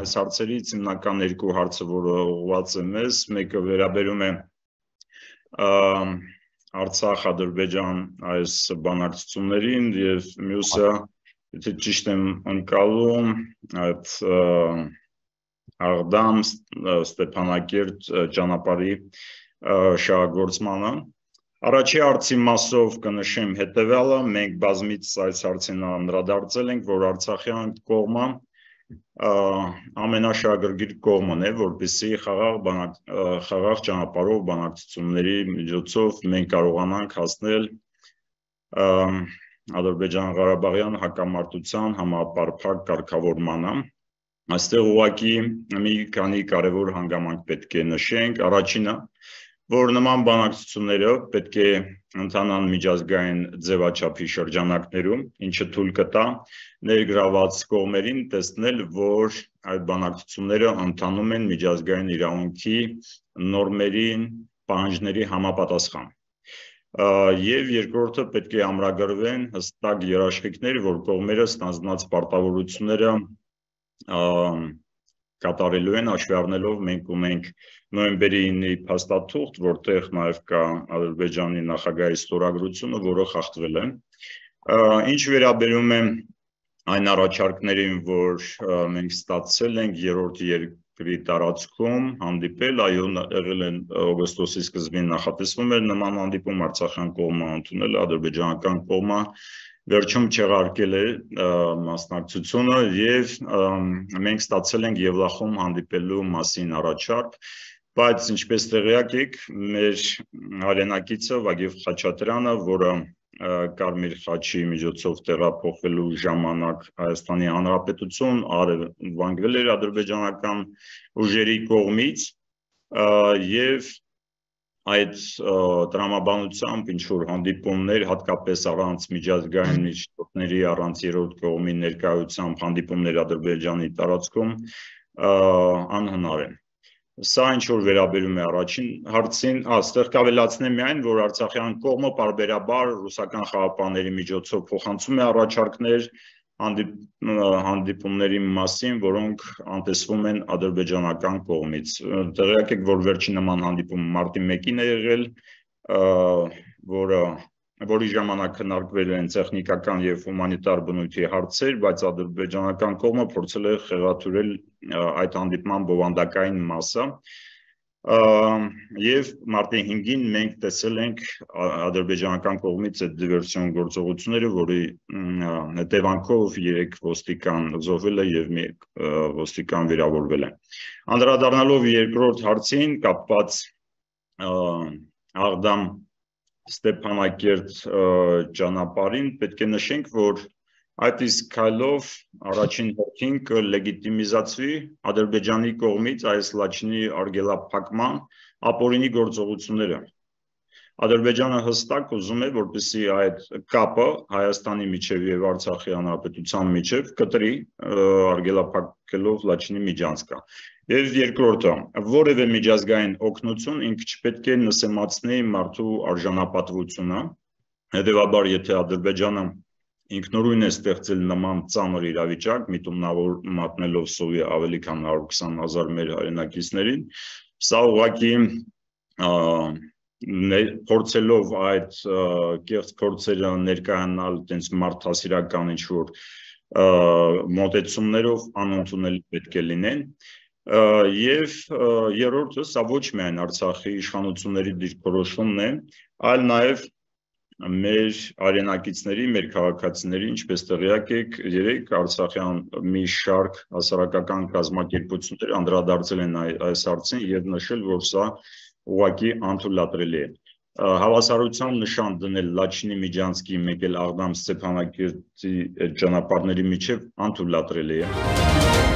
այս հարցերից հիմնական երկու հարցը, որը ուղղված է մեզ, մեկը վերաբերում է Արցախ-Ադրբեջան այս բանակցություններին եւ մյուսը, եթե ճիշտ եմ ընկալում, այդ Աղդամ Ստեփանակերտ ճանապարհի շահագործմանը։ Առաջի հարցի մասով կնշեմ հետևյալը, մենք բազմից այս հարցին անդրադարձել ենք, որ արցախյան կողմը ամենաշահագրգիռ կողմն է, որպեսզի խաղաղ ճանապարհով բանակցությունների միջոցով մենք կարողանանք հասնել Ադրբեջան-Ղարաբաղյան հակամարտության համապարփակ կարգավորմանը։ Այստեղ ուղղակի մի քանի կարևոր հանգամանք պետք է նշենք։ Առաջինը, որ նման բանակցությունները պետք է ընթանան միջազգային ձևաչափի շրջանակներում, ինչը թույլ կտա ներգրաված կողմերին տեսնել, որ այդ բանակցությունները ընթանում են միջազգային իրավունքի նորմերին, պահանջների համապատասխան։ Եվ երկրորդը պետք է ամրագրվեն հստակ երաշխիքներ, որ կողմերը ստանձնած պարտավորությունները կատարելու են, հաշվի առնելով մենք ունենք նոյեմբերի 9-ի փաստաթուղթ, որտեղ նաև կա Ադրբեջանի նախագահի ստորագրությունը, որը խախտվել է։ Ինչ վերաբերում է այն առաջարկներին, որ մենք ստացել ենք երրորդ երկրի տարածքում հանդիպել, այո, եղել են օգոստոսի սկզբին նախատեսվում էր նման հանդիպում, արցախյան կողմը ընդունել, ադրբեջանական կողմը վերջում չեղարկել է մասնակցությունը եւ մենք ստացել ենք Եվլախում հանդիպելու մասին առաջարկ, բայց ինչպես տեղյակ եք, մեր հայրենակիցը Վագիվ Խաչատրյանը, որը Կարմիր խաչի միջոցով տեղափոխվելու ժամանակ Հայաստանի Հանրապետություն արևանգվել էր ադրբեջանական ուժերի կողմից եւ այդ տրամաբանությամբ ինչ-որ հանդիպումներ, հատկապես առանց միջազգային միջոցների, առանց երրորդ կողմի ներկայությամբ հանդիպումներ Ադրբեջանի տարածքում անհնար են։ Սա ինչ-որ վերաբերում է առաջին հարցին, այստեղ կավելացնեմ միայն, որ արցախյան կողմը պարբերաբար ռուսական խաղապահների միջոցով փոխանցում է առաջարկներ հանդիպումների մասին, որոնք անտեսվում են ադրբեջանական կողմից։ Տեղյակ եք, որ վերջին նման հանդիպումը մարտի 1-ին է եղել, որի ժամանակ քննարկվել են տեխնիկական եւ հումանիտար բնույթի հարցեր, բայց ադրբեջանական կողմը փորձել է խեղաթյուրել այդ հանդիպման բովանդակային մասը։ Եվ մարտի 5-ին մենք տեսել ենք ադրբեջանական կողմից այդ դիվերսիոն գործողությունները, որի հետևանքով 3 ոստիկան զոհվել է եւ 1 ոստիկան վիրավորվել է։ Անդրադառնալով երկրորդ հարցին, կապված Աղդամ Ստեփանակերտ ճանապարհին, պետք է նշենք, որ այդ իսկ քայլով առաջին հերթին կլեգիտիմիզացվի Ադրբեջանի կողմից այս Լաչինի արգելափակման ապօրինի գործողությունները։ Ադրբեջանը հստակ ուզում է, որպեսզի այդ կապը Հայաստանի միջև եւ Արցախի հանրապետության միջև կտրի, արգելափակելով Լաչինի միջանցքը։ Եվ երկրորդը, որևէ միջազգային օգնություն ինքը չպետք է նսեմացնի մարդու արժանապատվությունը։ Հետևաբար, եթե Ադրբեջանը ինքնուրույն է ստեղծել նման ծանր իրավիճակ, միտումնավոր մատնելով սովի ավելի քան 120,000 մեր հայրենակիցներին, սա ուղղակի փորձելով այդ կեղծ փորձերը ներկայանալ տենց մարդասիրական ինչ-որ մոտեցումներով անընդունելի պետք է լինեն։ Եվ երրորդը, սա ոչ միայն Արցախի իշխանությունների դիրքորոշումն է, այլ նաև մեր հայրենակիցների, մեր քաղաքացիների, ինչպես տեղյակ եք, 3 արցախյան մի շարք հասարակական կազմակերպություններ անդրադարձել են այս հարցին եւ նշել, որ սա ուղղակի անթույլատրելի է։ Հավասարության նշան դնել Լաչինի միջանցքի, մեկ էլ Աղդամ Ստեփանակերտի ճանապարհների միջև անթույլատրելի է։